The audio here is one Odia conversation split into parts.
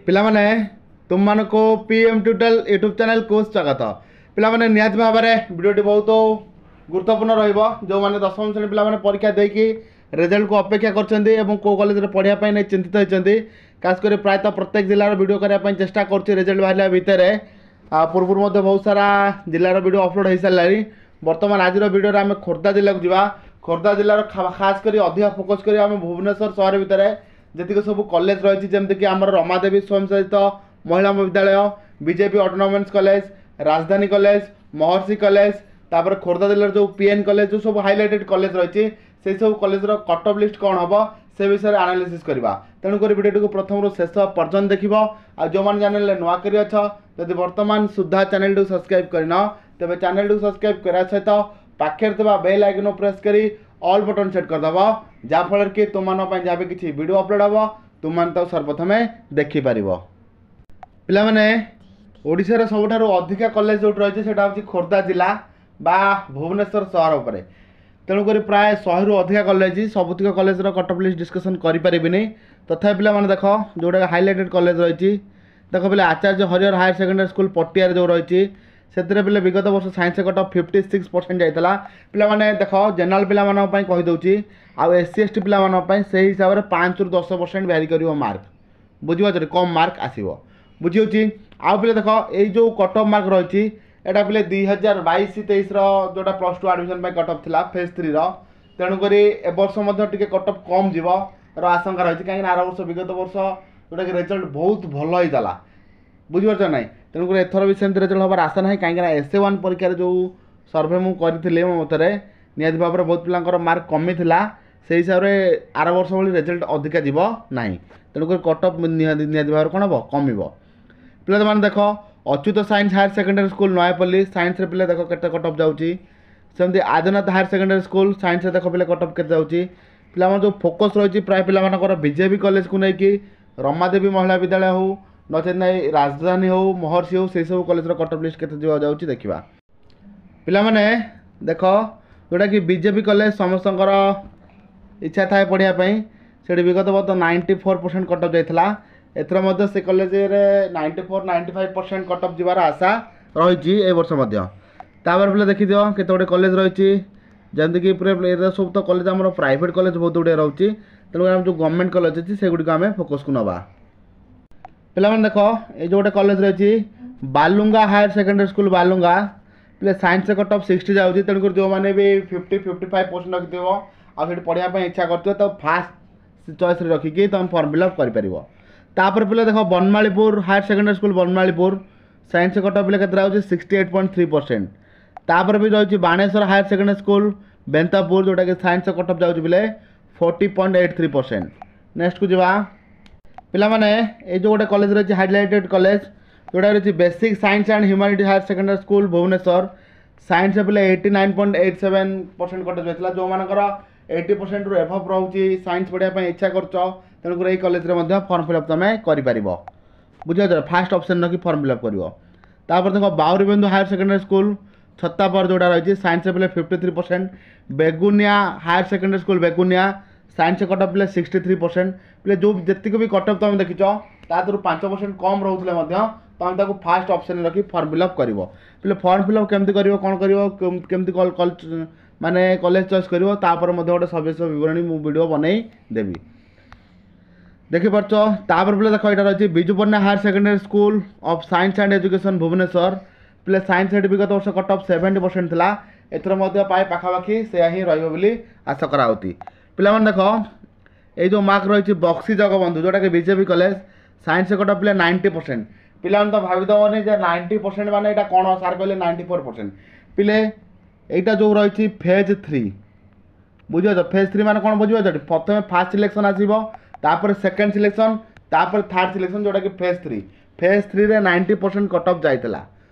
ପିଲାମାନେ, ତୁମମାନଙ୍କୁ ପି ଏମ୍ ଟ୍ୟୁଟୋରିଆଲ ୟୁଟ୍ୟୁବ୍ ଚ୍ୟାନେଲକୁ ସ୍ୱାଗତ। ପିଲାମାନେ, ନିହାତି ଭାବରେ ଭିଡ଼ିଓଟି ବହୁତ ଗୁରୁତ୍ୱପୂର୍ଣ୍ଣ ରହିବ। ଯେଉଁମାନେ ଦଶମ ଶ୍ରେଣୀ ପିଲାମାନେ ପରୀକ୍ଷା ଦେଇକି ରେଜଲ୍ଟକୁ ଅପେକ୍ଷା କରିଛନ୍ତି ଏବଂ କେଉଁ କଲେଜରେ ପଢ଼ିବା ପାଇଁ ନେଇ ଚିନ୍ତିତ ହୋଇଛନ୍ତି, ଖାସ କରି ପ୍ରାୟତଃ ପ୍ରତ୍ୟେକ ଜିଲ୍ଲାର ଭିଡ଼ିଓ କରିବା ପାଇଁ ଚେଷ୍ଟା କରୁଛି ରେଜଲ୍ଟ ବାହାରିଲା ଭିତରେ। ପୂର୍ବରୁ ମଧ୍ୟ ବହୁତ ସାରା ଜିଲ୍ଲାର ଭିଡ଼ିଓ ଅପଲୋଡ଼ ହୋଇସାରିଲାଣି। ବର୍ତ୍ତମାନ ଆଜିର ଭିଡ଼ିଓରେ ଆମେ ଖୋର୍ଦ୍ଧା ଜିଲ୍ଲାକୁ ଯିବା। ଖୋର୍ଦ୍ଧା ଜିଲ୍ଲାର ଖାସ କରି ଅଧିକା ଫୋକସ୍ କରିବା ଆମେ ଭୁବନେଶ୍ୱର ସହର ଭିତରେ ଯେତିକି ସବୁ କଲେଜ ରହିଛି, ଯେମିତିକି ଆମର ରମାଦେବୀ ସ୍ୱୟଂଶାସିତ ମହିଳା ମହାବିଦ୍ୟାଳୟ, ବିଜେପି ଅଟୋନୋମସ୍ କଲେଜ, ରାଜଧାନୀ କଲେଜ, ମହର୍ଷି କଲେଜ, ତାପରେ ଖୋର୍ଦ୍ଧା ଜିଲ୍ଲାର ଯେଉଁ ପିଏନ୍ କଲେଜ, ଯେଉଁ ସବୁ ହାଇଲାଇଟେଡ୍ କଲେଜ ରହିଛି, ସେଇ ସବୁ କଲେଜର କଟ୍ ଅଫ୍ ଲିଷ୍ଟ କ'ଣ ହେବ ସେ ବିଷୟରେ ଆନାଲିସିସ୍ କରିବା। ତେଣୁକରି ଭିଡ଼ିଓଟିକୁ ପ୍ରଥମରୁ ଶେଷ ପର୍ଯ୍ୟନ୍ତ ଦେଖିବ। ଆଉ ଯେଉଁମାନେ ଚ୍ୟାନେଲରେ ନୂଆ କରି ଅଛ, ଯଦି ବର୍ତ୍ତମାନ ସୁଦ୍ଧା ଚ୍ୟାନେଲଟିକୁ ସବସ୍କ୍ରାଇବ୍ କରିନ, ତେବେ ଚ୍ୟାନେଲଟିକୁ ସବସ୍କ୍ରାଇବ୍ କରିବା ସହିତ ପାଖରେ ଥିବା ବେଲ୍ ଆଇକନ୍ ପ୍ରେସ୍ କରି ଅଲ୍ ବଟନ୍ ସେଟ୍ କରିଦେବ, ଯାହାଫଳରେ କି ତୁମମାନଙ୍କ ପାଇଁ ଯାହା ବି କିଛି ଭିଡ଼ିଓ ଅପଲୋଡ଼ ହେବ, ତୁମମାନେ ତାକୁ ସର୍ବପ୍ରଥମେ ଦେଖିପାରିବ। ପିଲାମାନେ, ଓଡ଼ିଶାର ସବୁଠାରୁ ଅଧିକା କଲେଜ ଯେଉଁଠି ରହିଛି, ସେଇଟା ହେଉଛି ଖୋର୍ଦ୍ଧା ଜିଲ୍ଲା ବା ଭୁବନେଶ୍ୱର ସହର ଉପରେ। ତେଣୁକରି ପ୍ରାୟ 100ରୁ ଅଧିକା କଲେଜ, ସବୁତିକ କଲେଜର କଟ୍ ଅଫ୍ ଲିଷ୍ଟ ଡିସ୍କସନ୍ କରିପାରିବିନି। ତଥାପି ପିଲାମାନେ ଦେଖ, ଯେଉଁଟା ହାଇଲାଇଟେଡ୍ କଲେଜ ରହିଛି, ଦେଖ ପିଲା, ଆଚାର୍ଯ୍ୟ ହରିହର ହାୟର ସେକେଣ୍ଡାରୀ ସ୍କୁଲ ପଟିଆରେ ଯେଉଁ ରହିଛି, ସେଥିରେ ପିଲେ ବିଗତ ବର୍ଷ ସାଇନ୍ସ କଟ୍ ଅଫ୍ 56% ଯାଇଥିଲା। ପିଲାମାନେ ଦେଖ, ଜେନେରାଲ ପିଲାମାନଙ୍କ ପାଇଁ କହିଦେଉଛି, ଆଉ ଏସ୍ ସି ଏସ୍ ଟି ପିଲାମାନଙ୍କ ପାଇଁ ସେଇ ହିସାବରେ 5ରୁ 10% ଭ୍ୟାରି କରିବ ମାର୍କ। ବୁଝିପାରୁଛ? କମ୍ ମାର୍କ ଆସିବ, ବୁଝିହେଉଛି? ଆଉ ପିଲେ ଦେଖ, ଏଇ ଯେଉଁ କଟ୍ ଅଫ୍ ମାର୍କ ରହିଛି, ଏଇଟା ପିଲେ 2022-23ର ଯେଉଁଟା +2 ଆଡ଼ମିସନ୍ ପାଇଁ କଟ୍ ଅଫ୍ ଥିଲା ଫେଜ୍ 3ର। ତେଣୁକରି ଏ ବର୍ଷ ମଧ୍ୟ ଟିକେ କଟ୍ ଅଫ୍ କମ୍ ଯିବ ର ଆଶଙ୍କା ରହିଛି, କାହିଁକିନା ଆର ବର୍ଷ, ବିଗତ ବର୍ଷ ଯେଉଁଟାକି ରେଜଲ୍ଟ ବହୁତ ଭଲ ହେଇଥିଲା, ବୁଝିପାରୁଛ ନାହିଁ? ତେଣୁକରି ଏଥର ବି ସେମିତି ରେଜଲ୍ଟ ହେବାର ଆଶା ନାହିଁ, କାହିଁକିନା ଏସ୍ ଏ 1 ପରୀକ୍ଷାରେ ଯେଉଁ ସର୍ଭେ ମୁଁ କରିଥିଲି, ମୋ ମତରେ ନିହାତି ଭାବରେ ବହୁତ ପିଲାଙ୍କର ମାର୍କ କମିଥିଲା। ସେଇ ହିସାବରେ ଆର ବର୍ଷ ଭଳି ରେଜଲ୍ଟ ଅଧିକା ଯିବ ନାହିଁ। ତେଣୁକରି କଟ୍ ଅଫ୍ ନିହାତି ଭାବରେ କ'ଣ ହେବ? କମିବ। ପିଲାମାନେ ଦେଖ, Achyut science higher secondary school Nayapalli, ସାଇନ୍ସରେ ପିଲା ଦେଖ କେତେ କଟ୍ ଅଫ୍ ଯାଉଛି। ସେମିତି ଆଦିନାଥ ହାୟର ସେକେଣ୍ଡାରୀ ସ୍କୁଲ, ସାଇନ୍ସରେ ଦେଖ ପିଲା କଟ୍ ଅଫ୍ କେତେ ଯାଉଛି। ପିଲାମାନେ, ଯେଉଁ ଫୋକସ୍ ରହିଛି ପ୍ରାୟ ପିଲାମାନଙ୍କର ବିଜେପି କଲେଜକୁ ନେଇକି, ରମାଦେବୀ ମହିଳା ବିଦ୍ୟାଳୟ ହେଉ, ନଚେତ୍ ନାଇଁ ରାଜଧାନୀ ହେଉ, ମହର୍ଷି ହେଉ, ସେଇ ସବୁ କଲେଜର କଟ୍ ଅଫ୍ ଲିଷ୍ଟ କେତେ ଯିବାକୁ ଯାଉଛି ଦେଖିବା। ପିଲାମାନେ ଦେଖ, ଯେଉଁଟାକି ବିଜେପି କଲେଜ, ସମସ୍ତଙ୍କର ଇଚ୍ଛା ଥାଏ ପଢ଼ିବା ପାଇଁ, ସେଠି ବିଗତ ବର୍ଷ 94% କଟ୍ ଅଫ୍ ଯାଇଥିଲା। ଏଥର ମଧ୍ୟ ସେ କଲେଜରେ 94, 95% କଟ୍ ଅଫ୍ ଯିବାର ଆଶା ରହିଛି ଏ ବର୍ଷ ମଧ୍ୟ। ତାପରେ ପିଲା ଦେଖିଦିଅ, କେତେ ଗୁଡ଼ିଏ କଲେଜ ରହିଛି, ଯେମିତିକି ପୁରା ଏରା ସବୁ ତ କଲେଜ ଆମର ପ୍ରାଇଭେଟ୍ କଲେଜ ବହୁତ ଗୁଡ଼ିଏ ରହୁଛି। ତେଣୁ ଆମର ଯେଉଁ ଗଭର୍ଣ୍ଣମେଣ୍ଟ କଲେଜ ଅଛି, ସେଗୁଡ଼ିକୁ ଆମେ ଫୋକସ୍କୁ ନେବା। ପିଲାମାନେ ଦେଖ, ଏଇ ଯେଉଁ ଗୋଟେ କଲେଜ ରହିଛି, Balunga higher secondary school Balunga, ପିଲା ସାଇନ୍ସ କଟ୍ ଅଫ୍ 60 ଯାଉଛି। ତେଣୁକରି ଯେଉଁମାନେ ବି 50, 55% ରଖିଥିବ ଆଉ ସେଠି ପଢ଼ିବା ପାଇଁ ଇଚ୍ଛା କରୁଥିବ, ତ ଫାଷ୍ଟ ଚଏସ୍ରେ ରଖିକି ତୁମେ ଫର୍ମ ଫିଲ୍ଅପ୍ କରିପାରିବ। ତାପରେ ପିଲା ଦେଖ, Banamalipur higher secondary school Banamalipur, science cut off ପିଲା କେତେ ଯାଉଛି? 68.3%। ତାପରେ ବି ରହିଛି ବାଣେଶ୍ୱର ହାୟର ସେକେଣ୍ଡାରୀ ସ୍କୁଲ ବେନ୍ତାପୁର, ଯେଉଁଟାକି ସାଇନ୍ସ କଟ୍ ଅଫ୍ ଯାଉଛି ପିଲେ 40.83%। ନେକ୍ସଟକୁ ଯିବା। ପିଲାମାନେ, ଏଇ ଯେଉଁ ଗୋଟେ କଲେଜ ରହିଛି, ହାଇଲାଇଟେଡ୍ କଲେଜ ଯେଉଁଟା ରହିଛି, basic science and humanity higher secondary school Bhubaneswar, science ପିଲେ 89.87% କଟ୍ ଅଫ୍ ଯାଇଥିଲା। ଯେଉଁମାନଙ୍କର 80%ରୁ ଏଭବ୍ ରହୁଛି, ସାଇନ୍ସ ପଢ଼ିବା ପାଇଁ ଇଚ୍ଛା କରୁଛ, ତେଣୁକରି ଏଇ କଲେଜରେ ମଧ୍ୟ ଫର୍ମ ଫିଲ୍ଅପ୍ ତୁମେ କରିପାରିବ। ବୁଝିପାରୁଛ? ଫାଷ୍ଟ ଅପସନ୍ ରଖି ଫର୍ମ ଫିଲ୍ଅପ୍ କରିବ। ତାପରେ ଦେଖ, ବାଉରିବନ୍ଧୁ ହାୟର ସେକେଣ୍ଡାରୀ ସ୍କୁଲ ଛତାପର ଯେଉଁଟା ରହିଛି, ସାଇନ୍ସ ପିଲେ 53%। Begunia higher secondary school Begunia, science cut off ପିଲେ 63%। ପିଲେ, ଯେଉଁ ଯେତିକି ବି କଟ୍ ଅଫ୍ ତୁମେ ଦେଖିଛ, ତା ଦେହରୁ 5% କମ୍ ରହୁଥିଲେ ମଧ୍ୟ ତୁମେ ତାକୁ ଫାଷ୍ଟ ଅପସନ୍ରେ ରଖି ଫର୍ମ ଫିଲ୍ଅପ୍ କରିବ। ପିଲେ, ଫର୍ମ ଫିଲ୍ଅପ୍ କେମିତି କରିବ, କ'ଣ କରିବ, କେମିତି ମାନେ କଲେଜ ଚଏସ୍ କରିବ, ତାପରେ ମଧ୍ୟ ଗୋଟେ ସବିଶେଷ ବିବରଣୀ ମୁଁ ଭିଡ଼ିଓ ବନେଇ ଦେବି, ଦେଖିପାରୁଛ? ତାପରେ ପିଲା ଦେଖ, ଏଇଟା ରହିଛି Biju Patnaik higher secondary school of science and education Bhubaneswar. ପିଲା, ସାଇନ୍ସ ଏଠି ବିଗତ ବର୍ଷ କଟ୍ ଅଫ୍ 70% ଥିଲା। ଏଥର ମଧ୍ୟ ପ୍ରାୟ ପାଖାପାଖି ସେୟା ହିଁ ରହିବ ବୋଲି ଆଶା କରାହେଉଛି। ପିଲାମାନେ ଦେଖ, ଏଇ ଯେଉଁ ମାର୍କ ରହିଛି ବକ୍ସି ଜଗବନ୍ଧୁ, ଯେଉଁଟାକି BJP college, science cut off ପିଲା 90%। ପିଲାମାନେ ତ ଭାବିଦେବନି ଯେ 90% ମାନେ ଏଇଟା କ'ଣ, ସାର୍ କହିଲେ 94%। ପିଲେ, ଏଇଟା ଯେଉଁ ରହିଛି ଫେଜ୍ 3, ବୁଝିପାରୁଛ? ଫେଜ୍ 3 ମାନେ କ'ଣ ବୁଝିପାରୁଛ? ପ୍ରଥମେ ଫାର୍ଷ୍ଟ ସିଲେକ୍ସନ୍ ଆସିବ, ତାପରେ ସେକେଣ୍ଡ ସିଲେକ୍ସନ୍, ତାପରେ ଥାର୍ଡ଼ ସିଲେକ୍ସନ୍, ଯେଉଁଟାକି ଫେଜ୍ 3। ଫେଜ୍ 3ରେ 90% କଟ୍ ଅଫ୍ ଯାଇଥିଲା,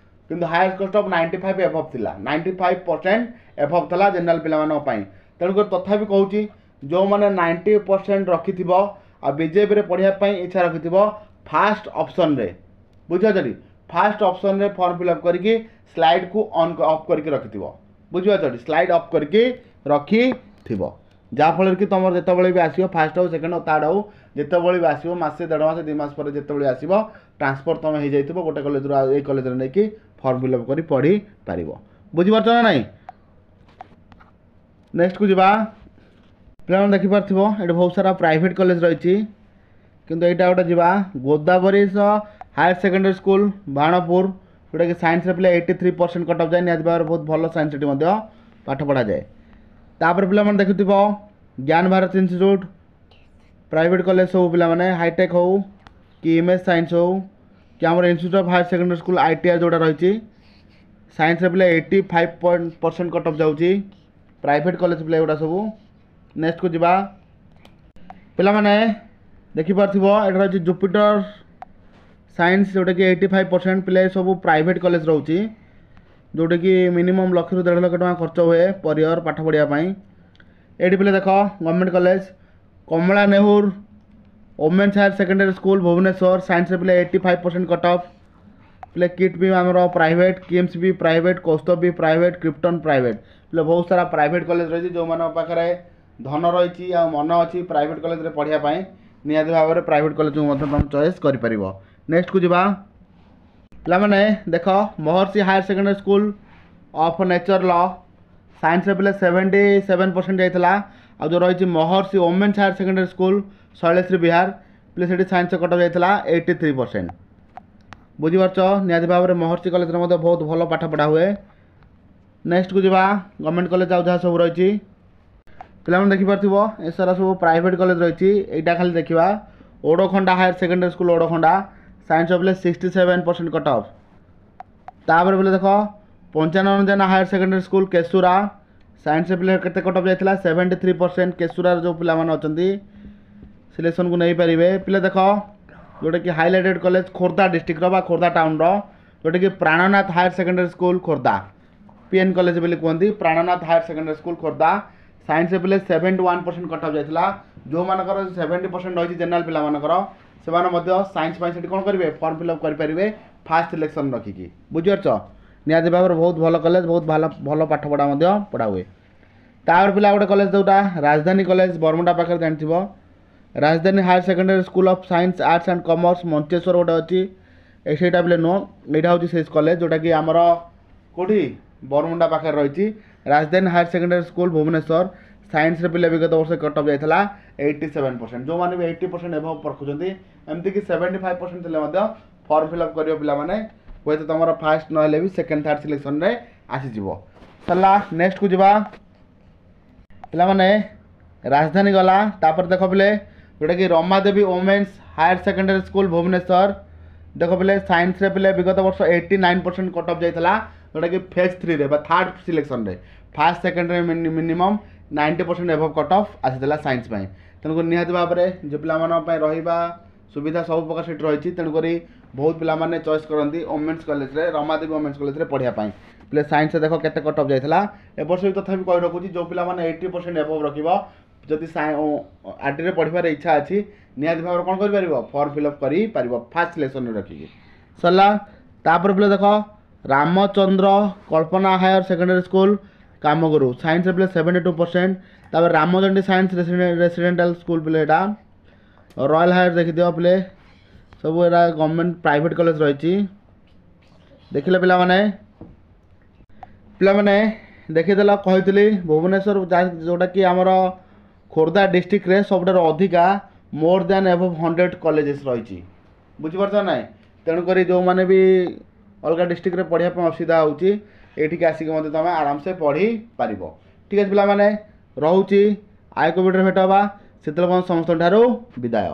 କିନ୍ତୁ ହାୟେଷ୍ଟ କଟ୍ ଅଫ୍ 95 ଏଭବ୍ ଥିଲା, 95% ଏଭବ୍ ଥିଲା ଜେନେରାଲ ପିଲାମାନଙ୍କ ପାଇଁ। ତେଣୁକରି ତଥାପି କହୁଛି, ଯେଉଁମାନେ 90% ରଖିଥିବ ଆଉ ବିଜେପିରେ ପଢ଼ିବା ପାଇଁ ଇଚ୍ଛା ରଖିଥିବ, ଫାଷ୍ଟ ଅପସନ୍ରେ, ବୁଝିପାରୁଛ, ଫାଷ୍ଟ ଅପସନ୍ରେ ଫର୍ମ ଫିଲ୍ଅପ୍ କରିକି ସ୍ଲାଇଡ଼୍କୁ ଅନ୍ ଅଫ୍ କରିକି ରଖିଥିବ। ବୁଝିପାରୁଛ? ସ୍ଲାଇଡ଼୍ ଅଫ୍ କରିକି ରଖିଥିବ। ଯାହାଫଳରେ କି ତୁମର ଯେତେବେଳେ ବି ଆସିବ, ଫାର୍ଷ୍ଟ ହଉ, ସେକେଣ୍ଡ ହଉ, ଥାର୍ଡ଼ ହଉ, ଯେତେବେଳେ ବି ଆସିବ, ମାସେ, 1.5 ମାସ, 2 ମାସ ପରେ ଯେତେବେଳେ ଆସିବ, ଟ୍ରାନ୍ସଫର୍ ତୁମେ ହେଇଯାଇଥିବ ଗୋଟେ କଲେଜରୁ ଆଉ ଏଇ କଲେଜରେ ନେଇକି ଫର୍ମ ଫିଲ୍ଅପ୍ କରି ପଢ଼ିପାରିବ। ବୁଝିପାରୁଛ ନା ନାହିଁ? ନେକ୍ସଟକୁ ଯିବା। ପିଲାମାନେ, ଦେଖିପାରୁଥିବ, ଏଠି ବହୁତ ସାରା ପ୍ରାଇଭେଟ୍ କଲେଜ ରହିଛି। କିନ୍ତୁ ଏଇଟା ଗୋଟେ ଯିବା, Godabarish higher secondary school, Banapur, ଯେଉଁଟାକି ସାଇନ୍ସରେ ପିଲା 83% କଟ୍ ଅଫ୍ ଯାଏ। ନିହାତି ଭାବରେ ବହୁତ ଭଲ ସାଇନ୍ସ ଏଠି ମଧ୍ୟ ପାଠ ପଢ଼ାଯାଏ। ତାପରେ ପିଲାମାନେ ଦେଖୁଥିବ, ଜ୍ଞାନ ଭାରତ ଇନଷ୍ଟିଚ୍ୟୁଟ୍, ପ୍ରାଇଭେଟ୍ କଲେଜ ସବୁ ପିଲାମାନେ, ହାଇଟେକ୍ ହଉ କି ଇମେଜ୍ ସାଇନ୍ସ ହଉ କି ଆମର Institute of Higher Secondary School ITR ଯେଉଁଟା ରହିଛି, ସାଇନ୍ସରେ ପିଲା 85 point percent cut off ଯାଉଛି। ପ୍ରାଇଭେଟ୍ କଲେଜ ପିଲା ଏଗୁଡ଼ା ସବୁ। ନେକ୍ସଟକୁ ଯିବା। ପିଲାମାନେ, ଦେଖିପାରୁଥିବ, ଏଇଟା ରହିଛି ଜୁପିଟର ସାଇନ୍ସ, ଯେଉଁଟାକି 85%। ପିଲା, ସବୁ ପ୍ରାଇଭେଟ୍ କଲେଜ ରହୁଛି, ଯେଉଁଟାକି ମିନିମମ୍ ଲକ୍ଷରୁ 1.5 ଲକ୍ଷ ଟଙ୍କା ଖର୍ଚ୍ଚ ହୁଏ ପର୍ ଇୟର୍ ପାଠ ପଢ଼ିବା ପାଇଁ। ଏଇଠି ପିଲା ଦେଖ, government college Kamala Nehru women's higher secondary school, Bhubaneswar, ସାଇନ୍ସରେ ପିଲା 85% କଟ୍ ଅଫ୍। ପିଲା, କିଟ୍ ବି ଆମର ପ୍ରାଇଭେଟ୍, କିମ୍ସ ବି ପ୍ରାଇଭେଟ୍, କୌସ୍ତୁଭ ବି ପ୍ରାଇଭେଟ୍, କ୍ରିପ୍ଟନ୍ ପ୍ରାଇଭେଟ୍। ପିଲା, ବହୁତ ସାରା ପ୍ରାଇଭେଟ୍ କଲେଜ ରହିଛି। ଯେଉଁମାନଙ୍କ ପାଖରେ ଧନ ରହିଛି ଆଉ ମନ ଅଛି ପ୍ରାଇଭେଟ୍ କଲେଜରେ ପଢ଼ିବା ପାଇଁ, ନିହାତି ଭାବରେ ପ୍ରାଇଭେଟ୍ କଲେଜକୁ ମଧ୍ୟ ତୁମେ ଚଏସ୍ କରିପାରିବ। ନେକ୍ସଟକୁ ଯିବା। ପିଲାମାନେ ଦେଖ, ମହର୍ଷି Higher Secondary School of Nature Law, ସାଇନ୍ସରେ ପିଲା 77% ଯାଇଥିଲା। ଆଉ ଯେଉଁ ରହିଛି Maharshi women's higher secondary school, Sailashree Vihar, ପିଲା ସେଠି ସାଇନ୍ସ କଟ୍ ଯାଇଥିଲା 83%। ବୁଝିପାରୁଛ? ନିହାତି ଭାବରେ ମହର୍ଷି କଲେଜରେ ମଧ୍ୟ ବହୁତ ଭଲ ପାଠ ପଢ଼ା ହୁଏ। ନେକ୍ସଟକୁ ଯିବା। ଗଭର୍ଣ୍ଣମେଣ୍ଟ କଲେଜ ଆଉ ଯାହା ସବୁ ରହିଛି, ପିଲାମାନେ ଦେଖିପାରୁଥିବ, ଏସାରା ସବୁ ପ୍ରାଇଭେଟ୍ କଲେଜ ରହିଛି। ଏଇଟା ଖାଲି ଦେଖିବା, ଓଡ଼ଖଣ୍ଡା ହାୟର ସେକେଣ୍ଡାରୀ ସ୍କୁଲ, ଓଡ଼ଖଣ୍ଡା, ସାଇନ୍ସ ପିଲେ 67% କଟ୍ ଅଫ୍। ତାପରେ ପିଲେ ଦେଖ, Panchanan Jena higher secondary school, Keshura, science ପିଲେ କେତେ କଟ୍ ଅଫ୍ ଯାଇଥିଲା? 73%। କେଶୁରାର ଯେଉଁ ପିଲାମାନେ ଅଛନ୍ତି, ସିଲେକ୍ସନ୍କୁ ନେଇପାରିବେ। ପିଲା ଦେଖ, ଯେଉଁଟାକି ହାଇଲାଇଟେଡ଼ କଲେଜ ଖୋର୍ଦ୍ଧା ଡିଷ୍ଟ୍ରିକ୍ଟର ବା ଖୋର୍ଦ୍ଧା ଟାଉନର, ଯେଉଁଟାକି Prananath higher secondary school, Khordha, P N college ବୋଲି କୁହନ୍ତି। Prananath higher secondary school, Khordha, ସାଇନ୍ସରେ ପିଲେ 71% କଟ୍ ଅଫ୍ ଯାଇଥିଲା। ଯେଉଁମାନଙ୍କର 70% ରହିଛି ଜେନେରାଲ ପିଲାମାନଙ୍କର, ସେମାନେ ମଧ୍ୟ ସାଇନ୍ସ ପାଇଁ ସେଠି କ'ଣ କରିବେ? ଫର୍ମ ଫିଲ୍ଅପ୍ କରିପାରିବେ ଫାର୍ଷ୍ଟ ସିଲେକ୍ସନ୍ ରଖିକି। ବୁଝିପାରୁଛ? ନିହାତି ଭାବରେ ବହୁତ ଭଲ କଲେଜ, ବହୁତ ଭଲ ଭଲ ପାଠପଢ଼ା ମଧ୍ୟ ପଢ଼ା ହୁଏ। ତାପରେ ପିଲା ଗୋଟେ କଲେଜ, ଯେଉଁଟା ରାଜଧାନୀ କଲେଜ, ବରମୁଣ୍ଡା ପାଖରେ ଜାଣିଥିବ, ରାଜଧାନୀ Higher Secondary School of Science, Arts and Commerce, Mancheswar ଗୋଟେ ଅଛି। ଏ ସେଇଟା ପିଲେ ନୁହଁ, ଏଇଟା ହେଉଛି ସେଇ କଲେଜ, ଯେଉଁଟାକି ଆମର କେଉଁଠି ବରମୁଣ୍ଡା ପାଖରେ ରହିଛି, ରାଜଧାନୀ ହାୟର ସେକେଣ୍ଡାରୀ ସ୍କୁଲ, ଭୁବନେଶ୍ୱର। ସାଇନ୍ସରେ ପିଲା ବିଗତ ବର୍ଷ କଟ୍ ଅଫ୍ ଯାଇଥିଲା 87%। ଯେଉଁମାନେ ବି 80% ଏବଭ୍ ରଖୁଛନ୍ତି, ଏମିତିକି 75% ଥିଲେ ମଧ୍ୟ ଫର୍ମ ଫିଲ୍ଅପ୍ କରିବ ପିଲାମାନେ। ହୁଏତ ତୁମର ଫାର୍ଷ୍ଟ ନହେଲେ ବି ସେକେଣ୍ଡ, ଥାର୍ଡ଼ ସିଲେକ୍ସନରେ ଆସିଯିବ। ସରିଲା, ନେକ୍ସଟକୁ ଯିବା। ପିଲାମାନେ, ରାଜଧାନୀ ଗଲା। ତାପରେ ଦେଖ ପିଲେ, ଯେଉଁଟାକି Ramadevi women's higher secondary school, Bhubaneswar. ଦେଖ ପିଲେ, ସାଇନ୍ସରେ ପିଲେ ବିଗତ ବର୍ଷ 89% କଟ୍ ଅଫ୍ ଯାଇଥିଲା, ଯେଉଁଟାକି ଫେଜ୍ 3ରେ ବା ଥାର୍ଡ଼ ସିଲେକ୍ସନରେ। ଫାର୍ଷ୍ଟ, ସେକେଣ୍ଡରେ minimum 90% above cut off ଆସିଥିଲା ସାଇନ୍ସ ପାଇଁ। ତେଣୁକରି ନିହାତି ଭାବରେ ଯେଉଁ ପିଲାମାନଙ୍କ ପାଇଁ ରହିବା ସୁବିଧା ସବୁ ପ୍ରକାର ସେଠି ରହିଛି, ତେଣୁକରି ବହୁତ ପିଲାମାନେ ଚଏସ୍ କରନ୍ତି ଓମେନ୍ସ କଲେଜରେ, ରମାଦେବୀ ଓମେନ୍ସ କଲେଜରେ ପଢ଼ିବା ପାଇଁ। ପିଲେ, ସାଇନ୍ସରେ ଦେଖ କେତେ କଟ୍ ଅଫ୍ ଯାଇଥିଲା ଏ ବର୍ଷ ବି। ତଥାପି କହି ରଖୁଛି, ଯେଉଁ ପିଲାମାନେ 80% ଏବଭ୍ ରଖିବ, ଯଦି ଆର୍ଡିରେ ପଢ଼ିବାର ଇଚ୍ଛା ଅଛି, ନିହାତି ଭାବରେ କ'ଣ କରିପାରିବ? ଫର୍ମ ଫିଲ୍ଅପ୍ କରିପାରିବ ଫାର୍ଷ୍ଟ ସିଲେକ୍ସନରେ ରଖିକି। ସରିଲା। ତାପରେ ପିଲା ଦେଖ, ରାମଚନ୍ଦ୍ର କଳ୍ପନା ହାୟର ସେକେଣ୍ଡାରୀ ସ୍କୁଲ, କାମଗୁରୁ, ସାଇନ୍ସରେ ପିଲେ 72%। ତାପରେ ରାମଚଣ୍ଡୀ ସାଇନ୍ସ ରେସିଡେଣ୍ଟାଲ ସ୍କୁଲ, ପିଲେ ଏଇଟା ରୟାଲ ହାୟର। ଦେଖିଦିଅ ପିଲେ, ସବୁ ଏଇଟା ଗଭର୍ଣ୍ଣମେଣ୍ଟ ପ୍ରାଇଭେଟ୍ କଲେଜ ରହିଛି। ଦେଖିଲେ ପିଲାମାନେ? ପିଲାମାନେ ଦେଖିଦେଲ, କହିଥିଲି ଭୁବନେଶ୍ୱର, ଯେଉଁଟାକି ଆମର ଖୋର୍ଦ୍ଧା ଡିଷ୍ଟ୍ରିକ୍ଟରେ ସବୁଠାରୁ ଅଧିକା more than above 100 colleges ରହିଛି। ବୁଝିପାରୁଛ ନା ନାହିଁ? ତେଣୁକରି ଯେଉଁମାନେ ବି ଅଲଗା ଡିଷ୍ଟ୍ରିକ୍ଟରେ ପଢ଼ିବା ପାଇଁ ଅସୁବିଧା ହେଉଛି, ଏଇଠିକି ଆସିକି ମଧ୍ୟ ତୁମେ ଆରାମସେ ପଢ଼ିପାରିବ। ଠିକ୍ ଅଛି ପିଲାମାନେ, ରହୁଛି। ଆଉ ଏକ ଭିଡ଼ିଓରେ ଭେଟ ହେବା, ସେତେବେଳେ ସମସ୍ତଙ୍କ ଠାରୁ ବିଦାୟ।